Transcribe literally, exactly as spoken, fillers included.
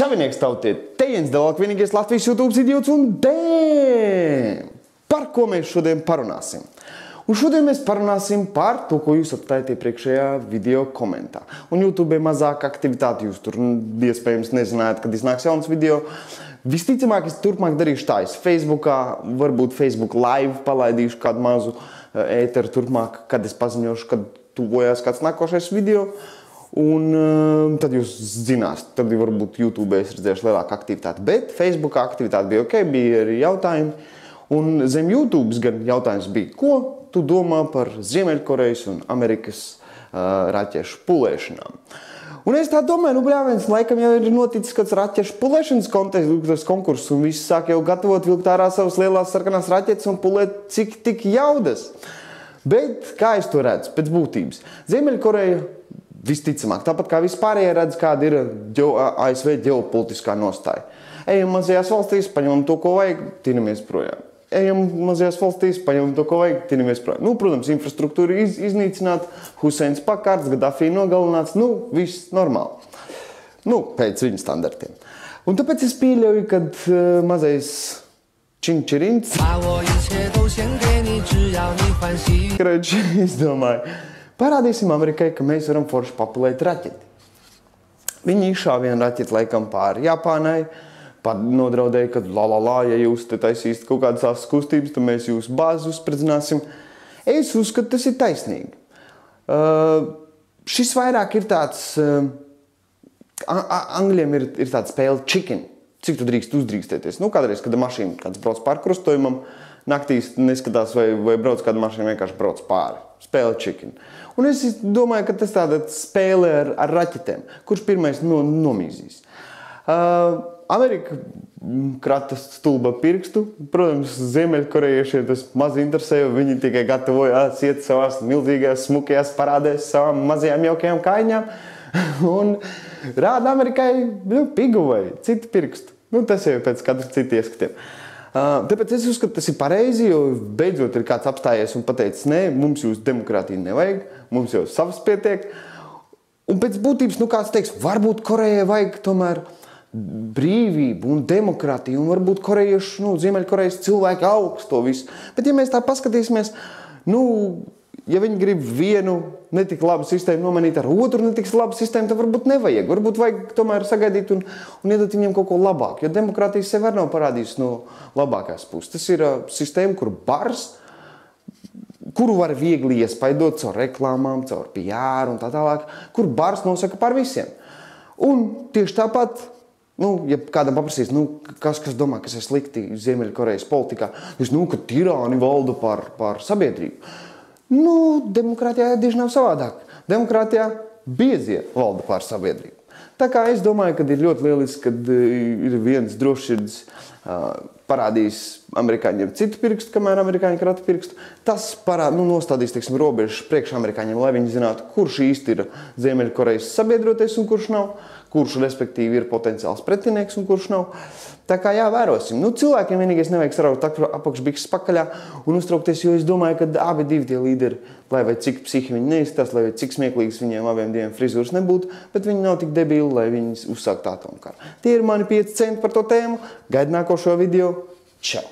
Čavinieks tautiet, te Jens Delak, vienīgais Latvijas YouTube idiots un dēm! Par ko mēs šodien parunāsim? Un šodien mēs parunāsim par to, ko jūs atstājat iepriekšējā video komentā. Un YouTube ir mazāk aktivitāti, jūs tur iespējams nezinājāt, kad iznāks jauns video. Visticamāk, es turpmāk darīšu tā, es Facebookā, varbūt Facebook live palaidīšu kādu mazu ēteru turpmāk, kad es paziņošu, kad tuvojās kāds nākošais video. Un um, tad jūs zinās, tad varbūt YouTube es redzēšu lielāku aktivitāti. Bet Facebookā aktivitāte bija ok, bija arī jautājumi. Un zem YouTube gan jautājums bija, ko tu domā par Ziemeļkorejas un Amerikas uh, raķešu pulēšanām? Un es tā domāju, nu bļāviens, laikam jau ir noticis kāds raķešu pulēšanas konkurss, un visi sāk jau gatavot vilkt ārā savas lielās sarkanās raķetes un pulēt cik tik jaudas. Bet kā es to redzu pēc būtības? Ziemeļkoreja visticamāk, tāpat kā vispārējie redz, kāda ir A S V ģeopolitiskā nostāja. Ejam mazajās valstīs, paņemam to, ko vajag, tinamies projām. Ejam mazajās valstīs, paņemam to, ko vajag, tinamies projām. Nu, protams, infrastruktūra iz, iznīcināta, Huseins pakārts, Gaddafi nogalināts, nu, viss normāli. Nu, pēc viņa standartiem. Un tāpēc es pieļauju, kad uh, mazais činčirins, es domāju, parādīsim Amerikai, ka mēs varam forši papulēt raķeti. Viņi izšāva vienu raķeti laikam pāri Japānai, pat nodraudēja, ka la la la, ja jūs te taisīsiet kaut kādas tās kustības, tad mēs jūsu bāzi uzspridzināsim. Es uzskatu, tas ir taisnīgi. Uh, šis vairāk ir tāds, uh, angļiem ir, ir tāds spēle chicken. Cik tu drīkst uzdrīkstēties? Nu, kādreiz, kad mašīna kāds brauc pār krustojumam, naktīs neskatās, vai, vai brauc kāda mašīna, vienkārši brauc pāri. Spēle chicken. Un es domāju, ka tas tāda spēle ar, ar raķetēm, kurš pirmais no, nomīzīs. Uh, Amerika krata stulba pirkstu. Protams, Ziemeļkorejiešiem tas maz interesē, jo viņi tikai gatavojās iet savās milzīgajās, smukajās parādēs savām mazajām jaukajām kaiņām. Un rāda Amerikai nu, pigu vai citu pirkstu. Nu, tas jau pēc katra cita ieskatiem. Uh, tāpēc es uzskatu, tas ir pareizi, jo beidzot ir kāds apstājies un pateicis, nē, mums jūs demokrātiju nevajag, mums jau savas pietiek. Un pēc būtības, nu kāds teiks, varbūt Korejai vajag tomēr brīvību un demokrātiju, un varbūt korejieši, nu, Ziemeļkorejas cilvēki augs to visu. Bet ja mēs tā paskatīsimies, nu, ja viņi grib vienu netik labu sistēmu nomainīt ar otru netik labu sistēmu, tad varbūt nevajag. Varbūt vajag tomēr sagaidīt un, un iedot viņiem kaut ko labāku. Jo demokrātija sev var nav parādījusi no labākās puses. Tas ir uh, sistēma, kur bars, kuru var viegli iespaidot caur reklāmām, caur P R un tā tālāk, kur bars nosaka par visiem. Un tieši tāpat, nu, ja kādam paprasīs, nu, kas, kas domā, kas ir slikti Ziemeļkorejas politikā, jūs, nu, ka tirāni valda par, par sabiedrību. Nu, demokrātijā tieši nav savādāk. Demokrātijā biezie valda pār sabiedrību. Tā kā es domāju, ka ir ļoti lieliski, kad ir viens drošsirds uh, parādījis amerikāņiem citu pirkstu, kamēr amerikāņi krata pirkstu. Tas parād, nu, nostādīs, teiksim, robežas priekš amerikāņiem, lai viņi zinātu, kurš īsti ir Ziemeļkorejas sabiedroties un kurš nav, kurš, respektīvi, ir potenciāls pretinieks un kurš nav. Tā kā jā, vērosim. Nu, cilvēkiem vienīgais nevajag saraukt apakšbikses pakaļā un uztraukties, jo es domāju, ka abi divi tie līderi, lai vai cik psihi viņi neizstās, lai vai cik smieklīgs viņiem abiem diviem frizūras nebūtu, bet viņi nav tik debili, lai viņi uzsāktu atomkaru. Tie ir mani pieci centi par to tēmu. Gaid nākošo video. Čau!